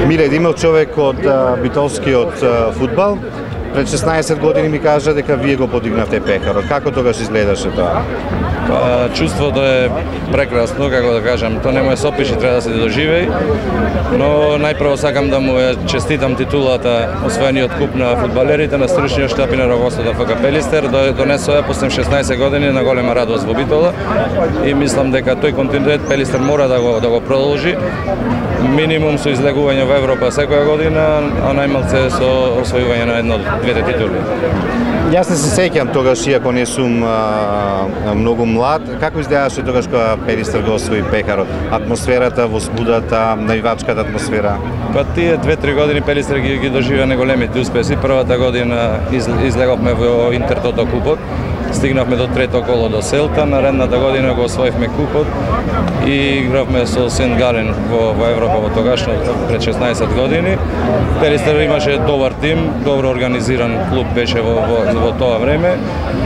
Миле Димов, човек од битолскиот фудбал, пред 16 години ми кажа дека вие го подигнавте Пекарот. Како тогаш изгледаше тоа? Чувството е прекрасно, како да кажам, тоа не му е сопиш и треба да се доживеи, но најпрво сакам да му честитам титулата освоениот куп на фудбалерите на стручниот штаб и на раководството на ФК Пелистер, донесоа после 16 години на голема радост во Битола и мислам дека тој континуитет Пелистер мора да го продолжи. Минимум со излегување во Европа секоја година, а најмалце со освојување на едно-двете титули. Јас не се сеќам тогаш, иако не сум многу млад, како изгледаше тогаш кога Пелистер го освои Пекарот? Атмосферата, возбудата, навивачката атмосфера? Па тие 2-3 години Пелистер ги доживеа неголемите успеси. Првата година излеговме во Интертото купот, стигнавме до трето коло до Селта, наредната година го освоивме купот и игравме со Сент Гален во Европа во тогашно пред 16 години. Пелистер имаше добар тим, добро организиран клуб беше во тоа време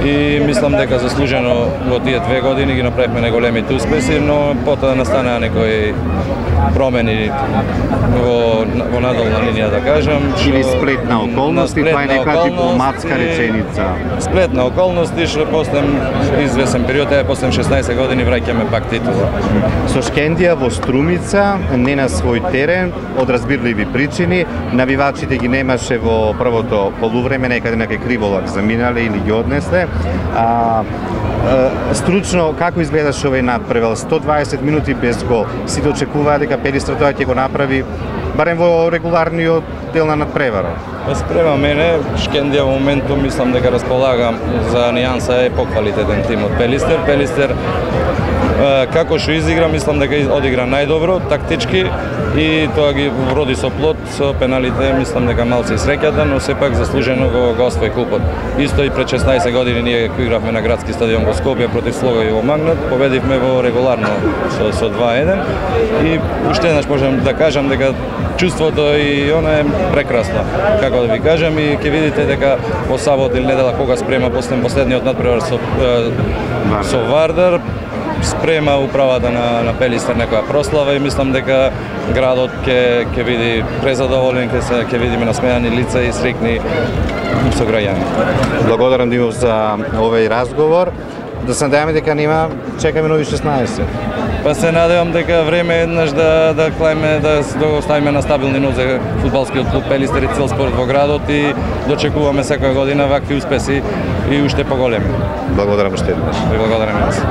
и мислам дека заслужено во тие 2 години ги направивме неголемите успеси, но потоа настанаа некои промени во надолна линија, да кажам. Или сплет на околности, тоа е некоја дипломатска реченица. Сплет на околности, што после извесен период, после 16 години враќаме пак титула. Со Шкендија во Струмица, не на свој терен, од разбирливи причини, навивачите ги немаше во првото полувреме, некаде на Криволак заминале или ги однесле. Стручно, како изгледаше овој надпревар? 120 минути без гол. Сите очекуваа дека Пелистер тоа ќе го направи барем во регуларниот дел на надпреварот. Па спрема мене, Шкендија во моментум мислам дека располага за нијанса е поквалитетен тим од Пелистер. Пелистер како што изигра, мислам дека одигра најдобро, тактички и тоа ги вроди со плод, со пеналите, мислам дека малце среќата, но сепак заслужено го освои купот. Исто и пред 16 години ние игравме на градски стадион во Скопје против Слога и во Магнат, победивме во регуларно со 2-1 и уште еднаш можам да кажам дека чувството и она е прекрасно. Како да ви кажам, и ќе видите дека во сабот или недела кога спрема последниот надпревар со Вардар, спрема управата на Пелистер некоја прослава и мислам дека градот ќе види презадоволен, ќе видиме насмеани лица и срекни сограѓани. Благодарам, Димов, за овој разговор. Да се надеваме дека нема, чекаме нови 16. Па се надевам дека време е еднаш да клајме, да го оставиме на стабилни нозе фудбалскиот клуб Пелистер и цел спорт во градот и дочекуваме секоја година вакви успеси и уште поголеми. Благодарам уште еднаш. Благодарам јас.